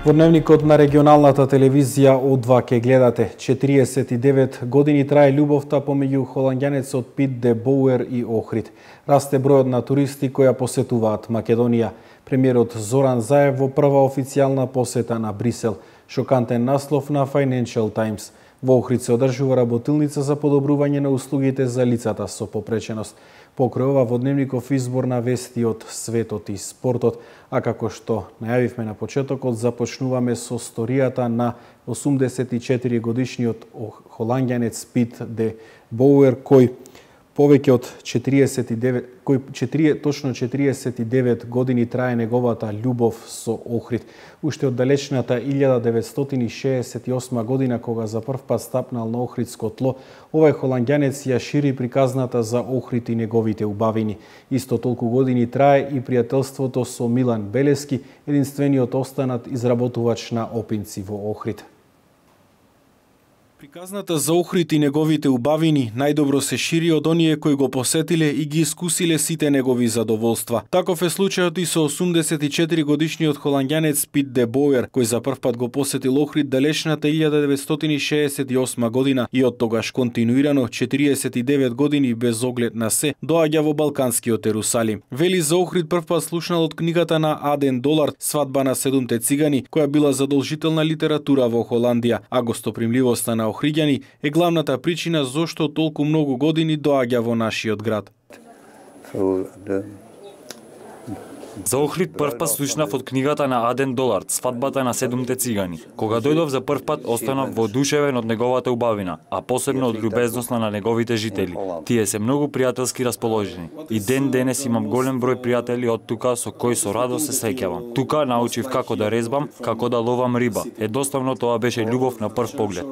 Во дневникот на регионалната телевизија О2 ке гледате 49 години трае љубовта помеѓу холанѓанецот Пит де Боуер и Охрид. Расте бројот на туристи кои ја посетуваат Македонија. Премиерот Зоран Заев во прва официјална посета на Брисел. Шокантен наслов на Financial Times. Во Охрид се одржува работилница за подобрување на услугите за лицата со попреченост. Покрај ова во дневников избор на вести од светот и спортот, а како што најавивме на почетокот, започнуваме со сторијата на 84 годишниот холанѓанец Пит де Боуер, кој повеќе од 49 години трае неговата љубов со Охрид. Уште од далечната 1968 година, кога за прв пат стапнал на охридско тло, овој холанѓанец ја шири приказната за Охрид и неговите убавини. Исто толку години трае и пријателството со Милан Белески, единствениот останат изработувач на опинци во Охрид. Приказната за Охрид и неговите убавини најдобро се шири од оние кои го посетиле и ги искусиле сите негови задоволства. Таков е случајот и со 84 годишниот холанѓанец Пит де Боуер, кој за прв пат го посетил Охрид далечната 1968 година и од тогаш континуирано 49 години без оглед на се доаѓа во балканскиот Ерусалим. Вели за Охрид прв пат слушнал од книгата на Аден Долар "Свадба на 7 цигани", која била задолжителна литература во Холандија, а гостопримливоста на охриѓани е главната причина зошто толку многу години доаѓа во нашиот град. За Охрид првпат слушнав од книгата на Аден Долар "Свадбата на 7 цигани". Кога дојдов за првпат останав воодушевен од неговата убавина, а посебно од љубезноста на неговите жители. Тие се многу пријателски расположени. И ден денес имам голем број пријатели од тука со кои со радост се сеќавам. Тука научив како да резбам, како да ловам риба. Едноставно тоа беше љубов на прв поглед.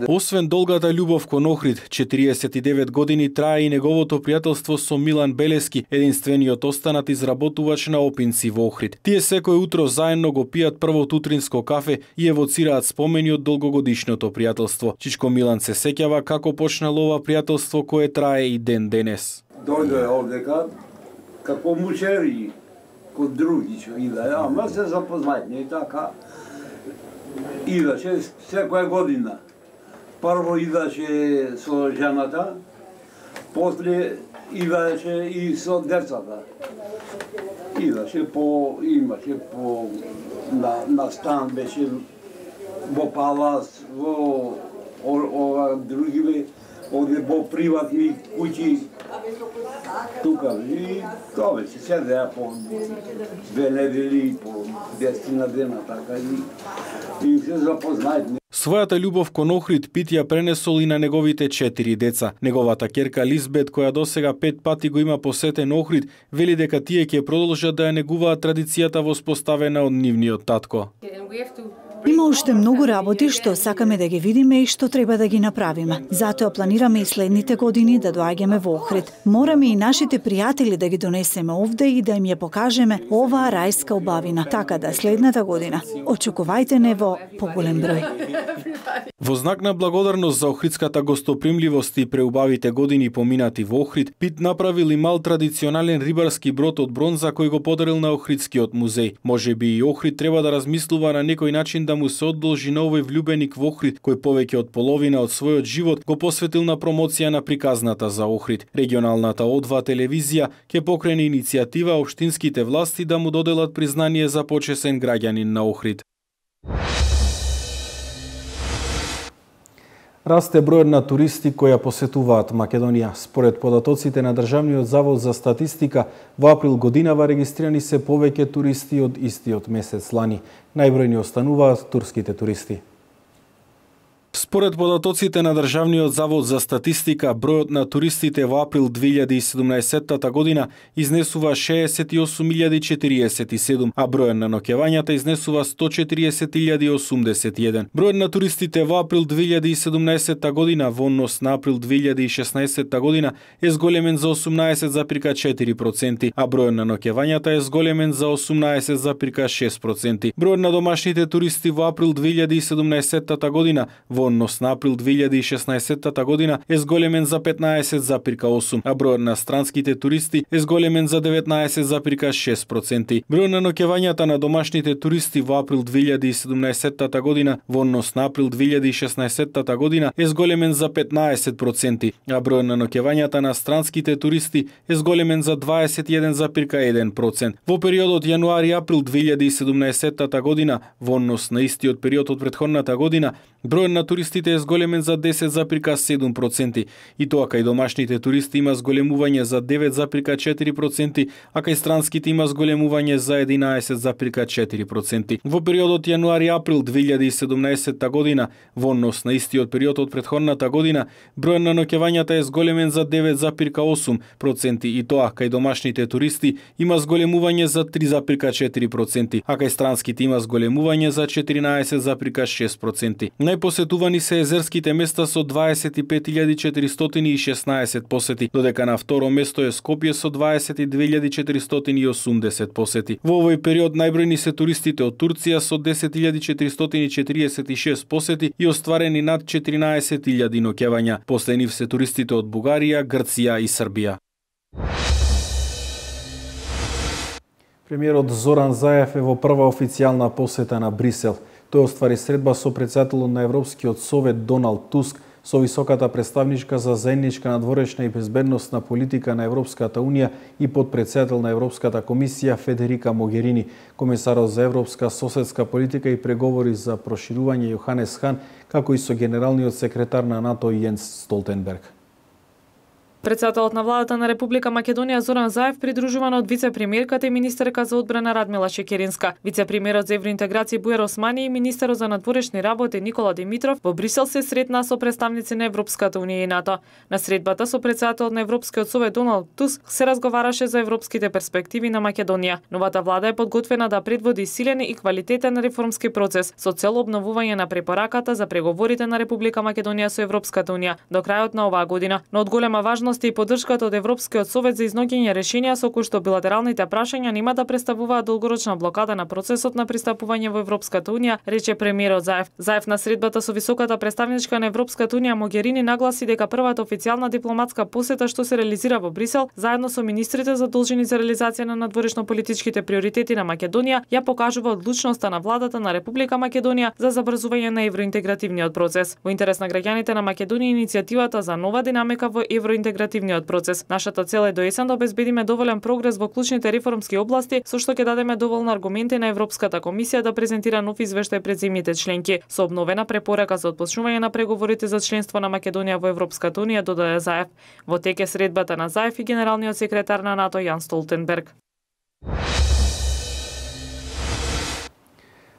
Освен долгата љубов кон Охрид, 49 години трае и неговото пријателство со Милан Белески, единствениот останат изработувач на опинци во Охрид. Тие секој утро заедно го пијат првото утринско кафе и евоцираат спомени од долгогодишното пријателство. Чичко Милан се сеќава како почнало ова пријателство кое трае и ден денес. Дојде овдека како мушери код други што иде, ама се запознајме и така. Идеше секоја година. Прво идаше со жената, после идаше и со децата. Имаше по на стан, беше во палас, во други, оде во приватни куќи. Тука и тоа беше седеа по 2 недели, по 10 дена, така и се запознајме. Својата љубов кон Охрид Пит ја пренесол и на неговите 4 деца. Неговата ќерка Лизбет, која досега 5 пати го има посетен Охрид, вели дека тие ќе продолжат да ја негуваат традицијата воспоставена од нивниот татко. Има уште многу работи што сакаме да ги видиме и што треба да ги направиме. Затоа планираме и следните години да доаѓаме во Охрид. Мораме и нашите пријатели да ги донесеме овде и да им ја покажеме оваа рајска убавина. Така да следната година очекувајте не во поголем број. Во знак на благодарност за охридската гостопримливост и преубавите години поминати во Охрид, Пит направил и мал традиционален рибарски брод од бронза кој го подарил на Охридскиот музеј. Можеби и Охрид треба да размислува на некој начин да му се одолжи на овој влюбеник во Охрид, кој повеќе од половина од својот живот го посветил на промоција на приказната за Охрид. Регионалната О2 телевизија ќе покрене иницијатива општинските власти да му доделат признание за почесен граѓанин на Охрид. Расте бројот на туристи кои ја посетуваат Македонија. Според податоците на Државниот завод за статистика, во април годинава регистрирани се повеќе туристи од истиот месец лани. Најбројни остануваат турските туристи. Според податоците на Државниот завод за статистика, бројот на туристите во април 2017 година изнесува 68.047, а бројот на ноќевањата изнесува 140.081. Бројот на туристите во април 2017 година во однос на април 2016 година е зголемен за 18,4%, а бројот на ноќевањата е зголемен за 18,6%. Бројот на домашните туристи во април 2017 година во Во однос на април 2016 година е зголемен за 15,8%, а бројот на странските туристи е зголемен за 19,6%. Бројот на ноќевањата на домашните туристи во април 2017 година во однос на април 2016 година е зголемен за 15%, а бројот на ноќевањата на странските туристи е зголемен за 21,1%. Во периодот јануари-април 2017 година, во однос на истиот период од претходната година, бројот на туристите е зголемен за 10,7%, и тоа кај домашните туристи има зголемување за 9,4%, а кај странските има зголемување за 11,4%. Во периодот јануари-април 2017 година, во однос на истиот период од претходната година, бројот на ноќевањата е зголемен за 9,8%, и тоа кај домашните туристи има зголемување за 3,4%, а кај странските има зголемување за 14,6%. Најпосетувани се езерските места со 25.416 посети, додека на второ место е Скопје со 22.480 посети. Во овој период најбројни се туристите од Турција со 10.446 посети и остварени над 14.000 ноќевања. После нив се туристите од Бугарија, Грција и Србија. Премиерот Зоран Заев е во прва официјална посета на Брисел. Тој оствари средба со претседателот на Европскиот совет Доналд Туск, со високата представничка за заедничка надворешна и безбедносна политика на Европската Унија и подпредседател на Европската комисија Федерика Могерини, комесарот за европска соседска политика и преговори за проширување Јоханес Хан, како и со генералниот секретар на НАТО Јенс Столтенберг. Председателот на владата на Република Македонија Зоран Заев придружуван од вице-премиерката и министерка за одбрана Радмила Шекеринска, вице-премиерот за евроинтеграција Бујар Османи и министерот за надворешни работи Никола Димитров во Брисел се сретнаа со представници на Европската унија и НАТО. На средбата со председателот на Европскиот совет Доналд Туск се разговараше за европските перспективи на Македонија. Новата влада е подготвена да предводи силен и квалитетен реформски процес со цел обновување на препораката за преговорите на Република Македонија со Европската унија до крајот на оваа година. Но од голема важност и поддршката од Европскиот совет за изнаоѓање решенија со кои што билатералните прашања нема да представуваат долгорочна блокада на процесот на пристапување во Европската унија, рече премиерот Заев. Заев на средбата со високата представничка на Европската унија Могерини нагласи дека првата официјална дипломатска посета што се реализира во Брисел, заедно со министрите задолжени за реализација на надворешно-политичките приоритети на Македонија, ја покажува одлучноста на владата на Република Македонија за забрзување на евроинтегративниот процес. Во интерес на граѓаните на Македонија иницијативата за нова динамика во евроинтегративниот процес. Нашата цел е до есен да обезбедиме доволен прогрес во клучните реформски области, со што ќе дадеме доволно аргументи на Европската комисија да презентира нов извештај пред земјите членки, со обновена препорака за отпочнување на преговорите за членство на Македонија во Европската унија, додаде Заев. Во тек е средбата на Заев и генералниот секретар на НАТО Јанс Столтенберг.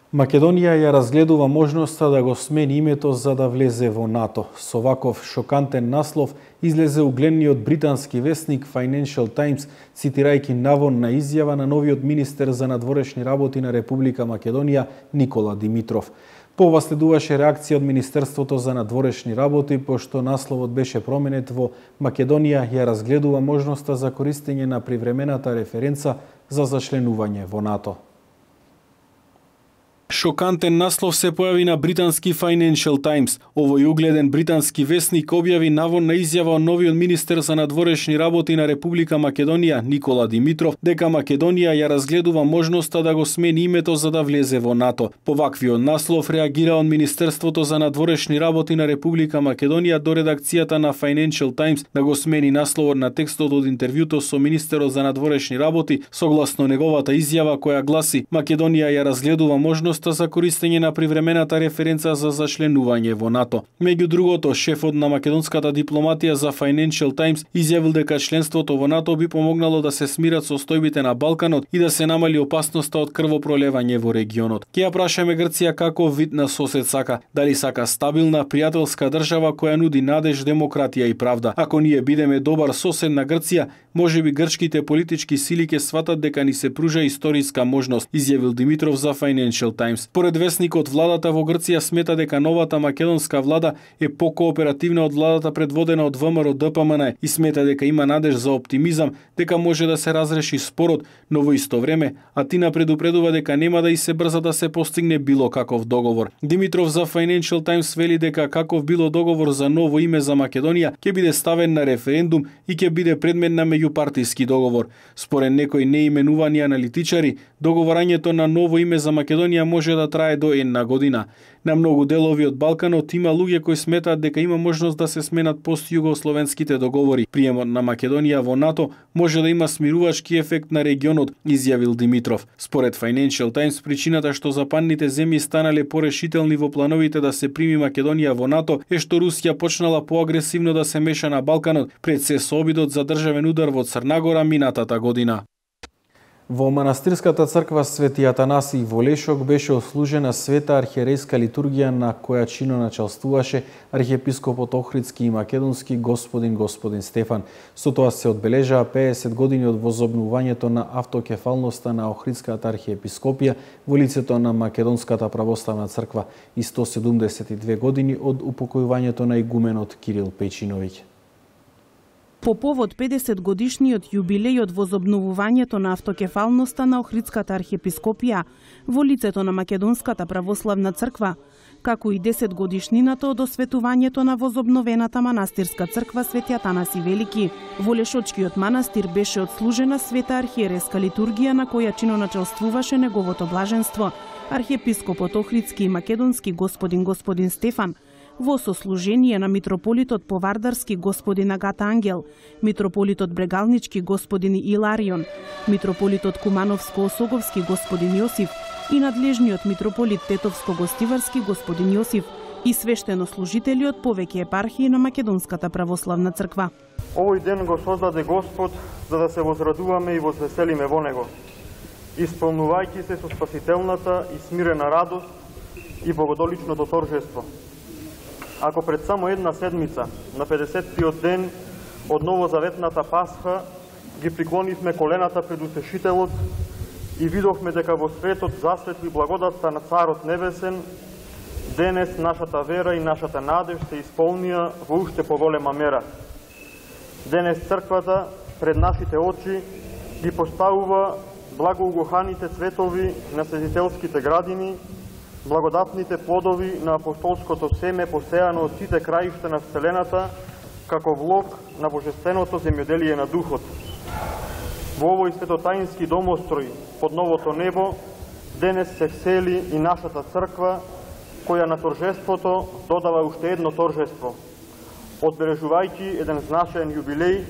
Македонија ја разгледува можноста да го смени името за да влезе во НАТО. Со ваков шокантен наслов излезе угледниот британски весник Financial Times, цитирајќи наводна изјава на новиот министер за надворешни работи на Република Македонија Никола Димитров. Пова следуваше реакција од Министерството за надворешни работи, пошто насловот беше променет во Македонија ја разгледува можноста за користење на привремената референца за зачленување во НАТО. Шокантен наслов се појави на британски Financial Times. Овој угледен британски весник објави наводна изјава од новиот министер за надворешни работи на Република Македонија Никола Димитров дека Македонија ја разгледува можноста да го смени името за да влезе во НАТО. По ваквиот наслов реагира од Министерството за надворешни работи на Република Македонија до редакцијата на Financial Times да го смени насловот на текстот од интервјуто со министерот за надворешни работи согласно неговата изјава која гласи: Македонија ја разгледува можноста за користење на привремената референца за зачленување во НАТО. Меѓу другото, шефот на македонската дипломатија за Financial Times изјавил дека членството во НАТО би помогнало да се смират состојбите на Балканот и да се намали опасноста од крвопролевање во регионот. Ке ја прашаме Грција каков вид на сосед сака, дали сака стабилна, пријателска држава која нуди надеж, демократија и правда. Ако ние бидеме добар сосед на Грција, можеби грчките политички сили ќе сватат дека ни се пружа историска можност, изјавил Димитров за Financial Times. Times. Поред весникот, владата во Грција смета дека новата македонска влада е покооперативна од владата предводена од ВМРО ДПМН и смета дека има надеж за оптимизам дека може да се разреши спорот, но во исто време Атина предупредува дека нема да и се брза да се постигне било каков договор. Димитров за Financial Times вели дека каков било договор за ново име за Македонија ќе биде ставен на референдум и ќе биде предмет на меѓупартиски договор. Според некои неименувани аналитичари, договорањето на ново име за Македонија може да трае до една година. На многу делови од Балканот има луѓе кои сметаат дека има можност да се сменат постјугословенските договори. Приемот на Македонија во НАТО може да има смирувачки ефект на регионот, изјавил Димитров. Според Financial Times, причината што западните земји станале порешителни во плановите да се прими Македонија во НАТО е што Русија почнала поагресивно да се меша на Балканот пред се со обидот за државен удар во Црнагора минатата година. Во манастирската црква Свети Атанасий во Лешок беше ослужена света архиерейска литургија на која чино началствуваше архиепископот Охридски и македонски господин Стефан. Со тоа се одбележаа 50 години од возобновувањето на автокефалноста на Охридската архиепископија во лицето на Македонската православна црква и 172 години од упокојувањето на игуменот Кирил Печиновиќ. По повод 50 годишниот јубилеј од возобновувањето на автокефалноста на Охридската архиепископија во лицето на Македонската православна црква, како и 10 годишнината од осветувањето на возобновената манастирска црква Свети Атанаси Велики, во Лешочкиот манастир беше отслужена света архиерейска литургија на која чиноначалствуваше неговото блаженство, архиепископот Охридски и македонски господин Стефан, во сослужение на митрополитот Повардарски господин Агата Ангел, митрополитот Брегалнички господин Иларион, митрополитот Кумановско-Осоговски господин Јосиф и надлежниот митрополит Тетовско-Гостиварски господин Јосиф и свештенослужители од повеќе епархии на Македонската православна црква. Овој ден го создаде Господ за да се возрадуваме и возвеселиме во него, исполнувајќи се со спасителната и смирена радост и богодоличното торжество. Ако пред само една седмица, на 50-тиот ден од новозаветната Пасха, ги приклонивме колената пред Утешителот и видовме дека во светот засветли благодатта на Царот Небесен, денес нашата вера и нашата надеж се исполнија во уште поголема мера. Денес црквата пред нашите очи ги поставува благоугоханите цветови на светителските градини, благодатните плодови на апостолското семе посејано од сите краишта на Вселената, како влог на божественото земјоделие на Духот. Во овој светотаински домострој под новото небо, денес се всели и нашата црква, која на торжеството додава уште едно торжество, одбележувајќи еден значаен јубилеј,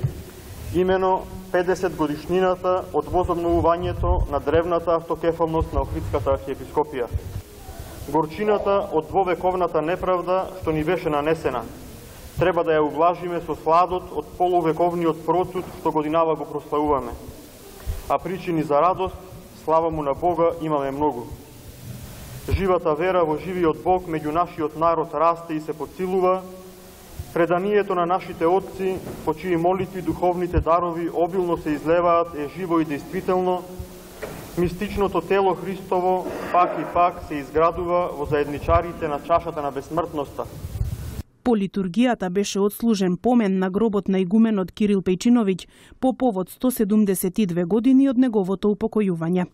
имено 50 годишнината од возобновувањето на древната автокефалност на Охридската архиепископија. Горчината од двовековната неправда што ни беше нанесена, треба да ја ублажиме со сладот од полувековниот процуд што годинава го прославуваме. А причини за радост, слава му на Бога, имаме многу. Живата вера во живиот Бог меѓу нашиот народ расте и се подсилува, преданието на нашите отци, по чии молитви духовните дарови обилно се излеваат, е живо и действително. Мистичното тело Христово пак и пак се изградува во заедничарите на чашата на бесмртноста. По литургијата беше отслужен помен на гробот на игуменот Кирил Печиновиќ по повод 172 години од неговото упокојување.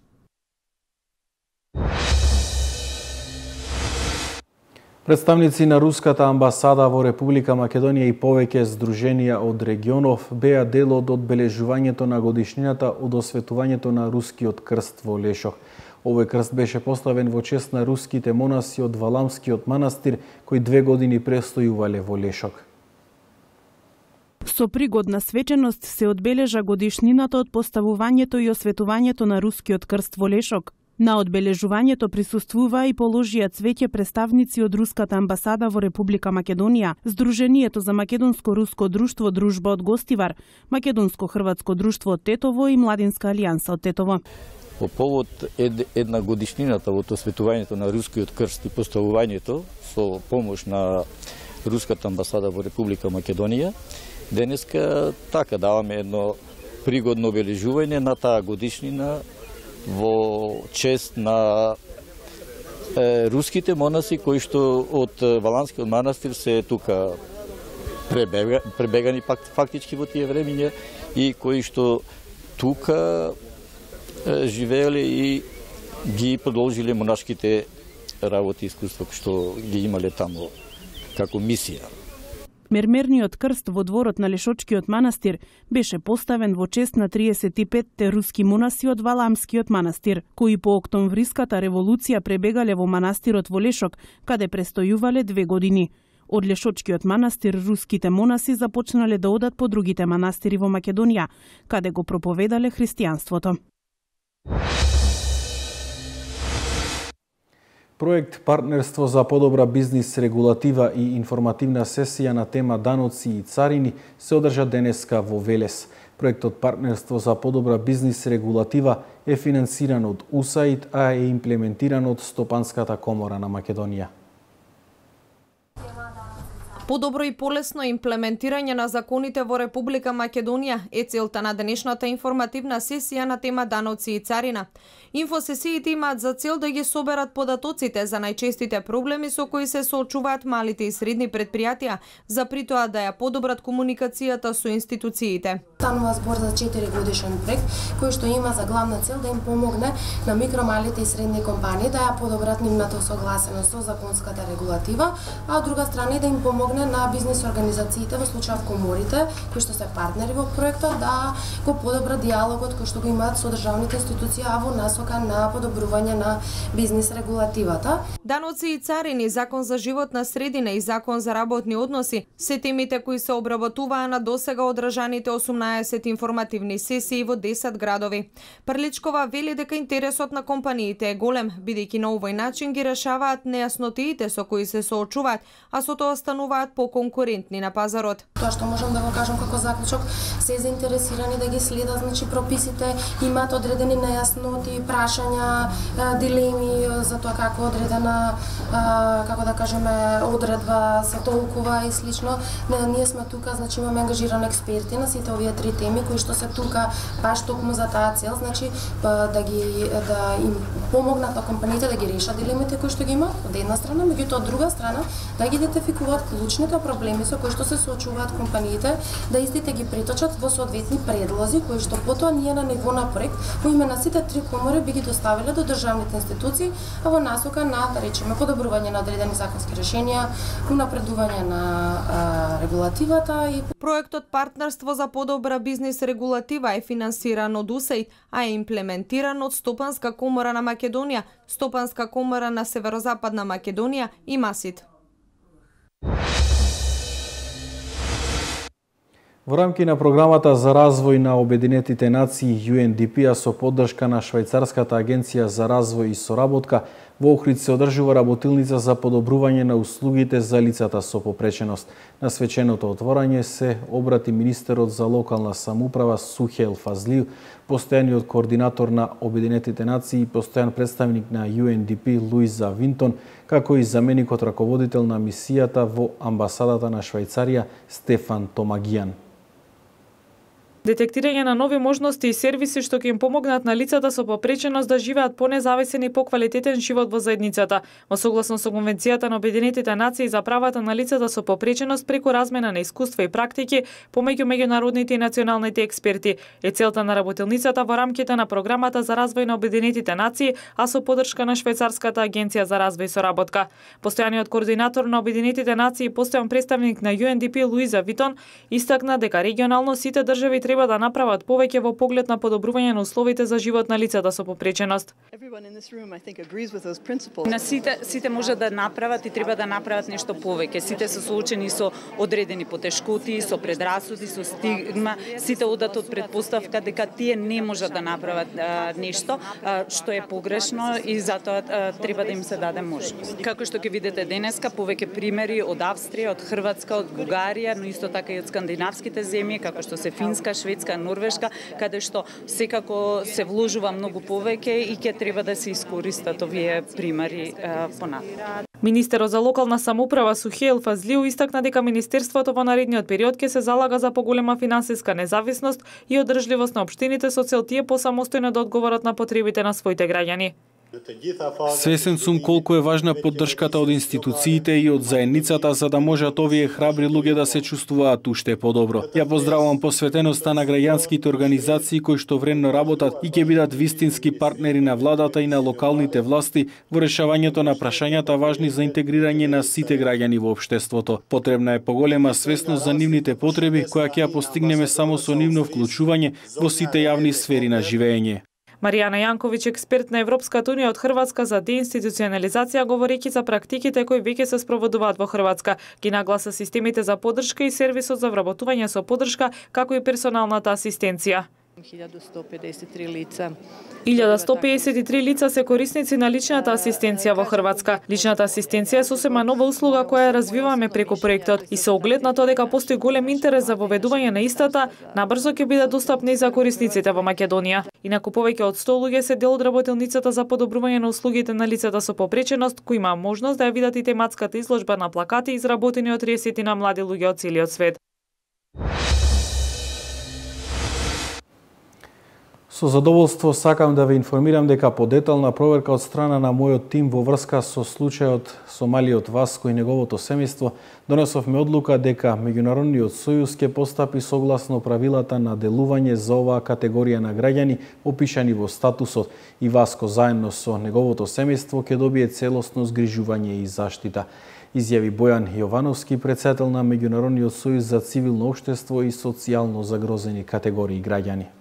Представници на Руската амбасада во Република Македонија и повеќе здруженија од регионов беа дел од одбележувањето на годишнината од осветувањето на рускиот крст во Лешок. Овој крст беше поставен во чест на руските монаси од Валамскиот манастир, кои 2 години престојувале во Лешок. Со пригодна свеченост се одбележа годишнината од поставувањето и осветувањето на рускиот крст во Лешок. На одбележувањето присуствува и положија цвеќе представници од Руската амбасада во Република Македонија, Сдруженијето за македонско-руско друштво Дружба од Гостивар, Македонско-хрватско друштво од Тетово и Младинска алијанса од Тетово. По повод една годишнината од осветувањето на рускиот крст и поставувањето со помош на Руската амбасада во Република Македонија, денеска така даваме едно пригодно обележување на таа годишнина во чест на руските монаси кои што од Валанскиот манастир се тука пребегани фактички во тие времиња и кои што тука живееле и ги продолжиле монашките работи и искуства што ги имале таму како мисија. Мермерниот крст во дворот на Лешочкиот манастир беше поставен во чест на 35-те руски монаси од Валамскиот манастир, кои по октомвриската револуција пребегале во манастирот во Лешок, каде престојувале 2 години. Од Лешочкиот манастир руските монаси започнале да одат по другите манастири во Македонија, каде го проповедале христијанството. Проект Партнерство за подобра бизнис регулатива и информативна сесија на тема даноци и царини се одржа денеска во Велес. Проектот Партнерство за подобра бизнис регулатива е финансиран од УСАИД, а е имплементиран од Стопанската комора на Македонија. Подобро и полесно имплементирање на законите во Република Македонија е целта на денешната информативна сесија на тема даноци и царина. Инфосесиите имаат за цел да ги соберат податоците за најчестите проблеми со кои се соочуваат малите и средни предпријатија, за притоа да ја подобрат комуникацијата со институциите. Станува збор за 4 годишен проект кој што има за главна цел да им помогне на микро, малите и средни компании да ја подобрат нивната согласеност со законската регулатива, а од друга страна да им помогне на бизнис организациите, во случајов коморите, кои што се партнери во проектот, да го подобрат диалогот кој што го имаат со државните институции, а во насока на подобрување на бизнис регулативата. Даноци и царини, закон за животна средина и закон за работни односи се темите кои се обработуваа на досега одржаните 18 информативни сесии во 10 градови. Прличкова вели дека интересот на компаниите е голем, бидејќи на овој начин ги решаваат нејаснотиите со кои се соочуваат, а со тоа стануваат поконкурентни на пазарот. Тоа што можам да го кажам како заклучок, се заинтересирани да ги следат, значи прописите, имаат одредени нејасноти, прашања, дилеми за тоа како одредена, како да кажеме, одредба се толкува и слично. Ние сме тука, значи имаме ангажирани експерти на сите овие 3 теми кои што се тука баш токму за таа цел, значи да им помогнат на компаниите да ги решат дилемите кои што ги имаат од една страна, меѓутоа од друга страна да ги идентификуваат клучните проблеми со кои што се соочуваат компаниите, да истите ги преточат во соодветни предлози кои што потоа ние на ниво на проект во име на сите 3 комори би ги доставиле до државните институции, а во насока на, да речеме, подобрување на одредени законски решенија, унапредување на регулативата и проектот Партнерство за подобра бизнис регулатива е финансиран од УСАИД, а е имплементиран од Стопанска комора на Македонија, Стопанска комора на Северозападна Македонија и МАСИД. Во рамки на програмата за развој на Обединетите нации UNDP, а со поддршка на Швајцарската агенција за развој и соработка, во Охрид се одржува работилница за подобрување на услугите за лицата со попреченост. На свеченото отворање се обрати министерот за локална самоуправа Сухел Фазлиев, постојаниот координатор на Обединетите нации и постојан представник на UNDP Луиза Винтон, како и заменикот раководител на мисијата во амбасадата на Швајцарија Стефан Томагијан. Детектирање на нови можности и сервиси што ќе им помогнат на лицата со попреченост да живеат понезависен и поквалитетен живот во заедницата, во согласно со Конвенцијата на Обединетите нации за правата на лицата со попреченост преку размена на искуства и практики помеѓу меѓународните и националните експерти, е целта на работилницата во рамките на програмата за развој на Обединетите нации, а со поддршка на Швајцарската агенција за развој и соработка. Постојаниот координатор на Обединетите нации и постојан представник на UNDP Луиза Витон истакна дека регионално сите држави треба да направат повеќе во поглед на подобрување на условите за живот на лицата со попреченост. На сите може да направат и треба да направат нешто повеќе. Сите се соочени со одредени потешкоти, со предрасуди, со стигма, сите одат од предпоставка дека тие не можат да направат нешто што е погрешно и затоа треба да им се даде можност. Како што ќе видите денеска, повеќе примери од Австрија, од Хрватска, од Бугарија, но исто така и од скандинавските земји, како што се Финска, Шведска, Норвешка, каде што секако се вложува многу повеќе и ќе треба да се искористат овие примери понатаму. Министерот за локална самоуправа Сухел Фазлиев истакна дека министерството во наредниот период ќе се залага за поголема финансиска независност и одржливост на општините со цел тие посамостојно да одговорат на потребите на своите граѓани. Свесен сум колку е важна поддршката од институциите и од заедницата за да можат овие храбри луѓе да се чувствуваат уште подобро. Ја поздравувам посветеноста на граѓанските организации кои што вредно работат и ќе бидат вистински партнери на владата и на локалните власти во решавањето на прашањата важни за интегрирање на сите граѓани во општеството. Потребна е поголема свесност за нивните потреби која ќе ја постигнеме само со нивно вклучување во сите јавни сфери на живење. Маријана Јанковиќ, експерт на Европската унија од Хрватска за деинституционализација, говорејќи за практиките кои веќе се спроведуваат во Хрватска, ги нагласа системите за поддршка и сервисот за вработување со поддршка, како и персоналната асистенција. 1153 лица се корисници на личната асистенција во Хрватска. Личната асистенција е сосема нова услуга која ја развиваме преку проектот и со оглед на тоа дека постои голем интерес за воведување на истата, набрзо ќе биде достапна и за корисниците во Македонија. Инаку повеќе од 100 луѓе се дел од работилницата за подобрување на услугите на лицата со попреченост, кои има можност да ја видат и тематската изложба на плакати изработени од 30 на млади луѓе од целиот свет. Со задоволство сакам да ве информирам дека по детална проверка од страна на мојот тим во врска со случајот со малиот Васко и неговото семејство, донесовме одлука дека Меѓународниот сојуз ќе постапи согласно правилата на делување за оваа категорија на граѓани опишани во статусот и Васко заедно со неговото семејство ќе добие целосно згрижување и заштита, изјави Бојан Јовановски, претседател на Меѓународниот сојуз за цивилно општество и социјално загрозени категории граѓани.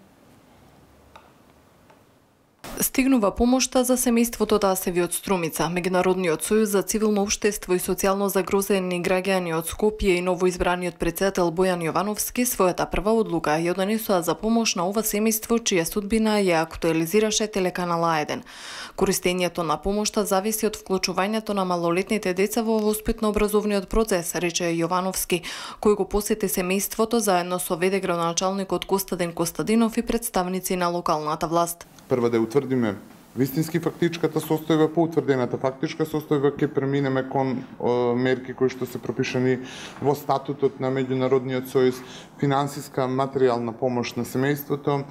Стигнува помошта за семејството Тасеви од Струмица. Меѓународниот сојуз за цивилно општество и социјално загрозени граѓани од Скопје и новоизбраниот претседател Бојан Јовановски својата прва одлука ја донесоа за помош на ова семејство чија судбина ја актуализираше телеканал А1. Користењето на помошта зависи од вклучувањето на малолетните деца во воспитно-образовниот процес, рече Јовановски, кој го посети семејството заедно со ВД градоначалникот Костадин Костадинов и представници на локалната власт. Прво да утврдиме вистински фактичката состојба, по утврдената фактичка состојба ќе преминеме кон мерки кои што се пропишани во статутот на Меѓународниот сојуз, финансиска, материјална помош на семејството,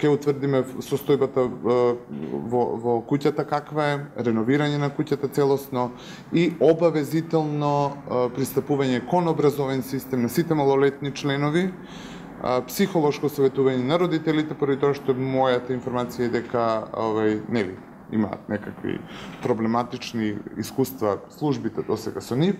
ќе утврдиме состојбата во куќата каква е, реновирање на куќата целосно и обавезително пристапување кон образовен систем на сите малолетни членови, психолошко советување на родителите, поради тоа што мојата информација е дека нели имаат некакви проблематични искуства службите досега со нив,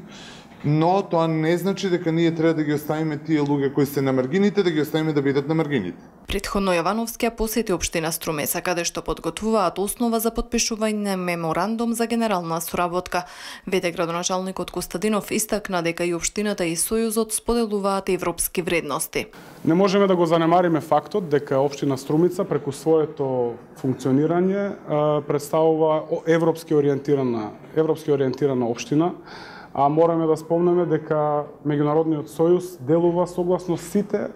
но тоа не значи дека ние треба да ги оставиме тие луѓе кои се на маргините, да ги оставиме да бидат на маргините. Претходно Јовановски посети општина Струмеца, каде што подготвуваат основа за подпишување меморандум за генерална соработка. ВД градоначалникот Костадинов истакна дека и општината и Сојузот споделуваат европски вредности. Не можеме да го занемариме фактот дека општина Струмица преку своето функционирање представува европски ориентирана општина, а мораме да спомнеме дека Меѓународниот сојуз делува согласно сите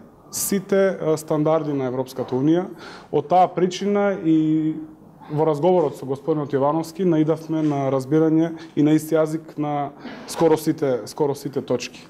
стандарди на Европската унија. Од таа причина и во разговорот со господинот Јовановски наидавме на разбирање и на ист јазик на скоро сите точки.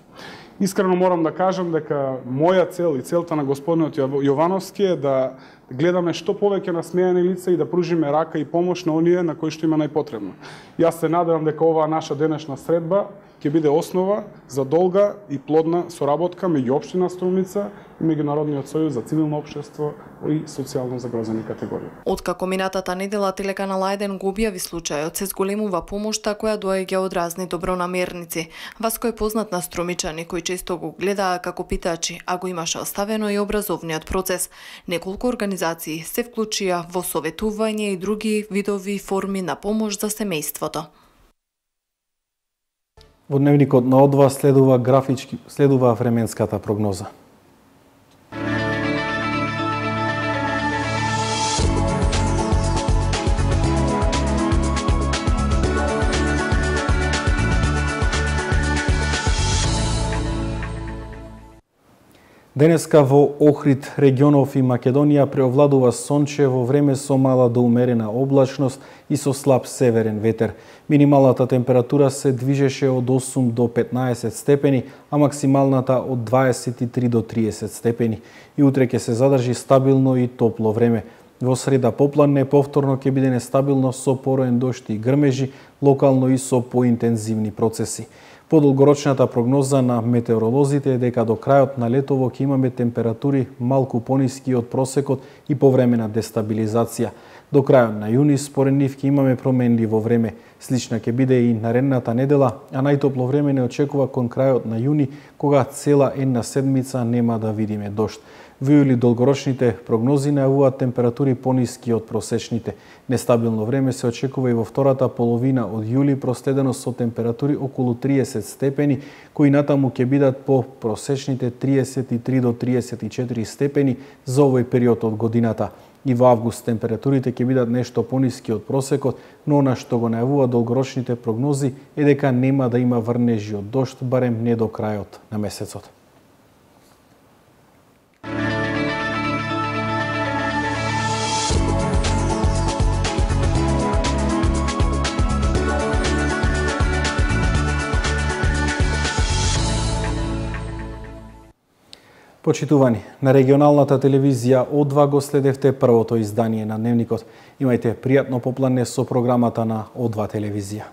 Искрено морам да кажам дека моја цел и целта на господинот Јовановски е да гледаме што повеќе насмејани лица и да пружиме рака и помош на оние на кои што има најпотребно. Јас се надевам дека оваа наша денешна средба ќе биде основа за долга и плодна соработка меѓу општина Струмица и Меѓународниот сојуз за цивилно општество и социјално загрозени категории. Откако минатата недела телеканал А1 го објави случајот, се зголемува помошта која доаѓа од разни добронамерници. Васко е познат на струмичани кои често го гледаа како питачи, а го имаше оставено и образовниот процес. Неколку организации се вклучија во советување и други видови форми на помош за семејството. Во дневникот на О2 следува временската прогноза. Денеска во Охрид, регионов и Македонија преовладува сонче во време со мала до умерена облачност и со слаб северен ветер. Минималната температура се движеше од 8 до 15 степени, а максималната од 23 до 30 степени. И утре ќе се задржи стабилно и топло време. Во среда попладне повторно ќе биде нестабилно со пороен дожд и грмежи, локално и со поинтензивни процеси. По долгорочната прогноза на метеоролозите е дека до крајот на летово ќе имаме температури малку пониски од просекот и повремена дестабилизација. До крајот на јуни според нив ќе имаме промени во време. Слична ќе биде и наредната недела, а најтопло време не очекува кон крајот на јуни, кога цела една седмица нема да видиме дожд. Во јули долгорочните прогнози најавуваат температури пониски од просечните. Нестабилно време се очекува и во втората половина од јули, проследено со температури околу 30 степени, кои натаму ќе бидат по просечните 33 до 34 степени за овој период од годината. И во август температурите ќе бидат нешто пониски од просекот, но она што го најавува долгорочните прогнози е дека нема да има врнежи од дожд, барем не до крајот на месецот. Почитувани, на регионалната телевизија О2 го следевте првото издание на Дневникот. Имајте пријатно попладне со програмата на О2 телевизија.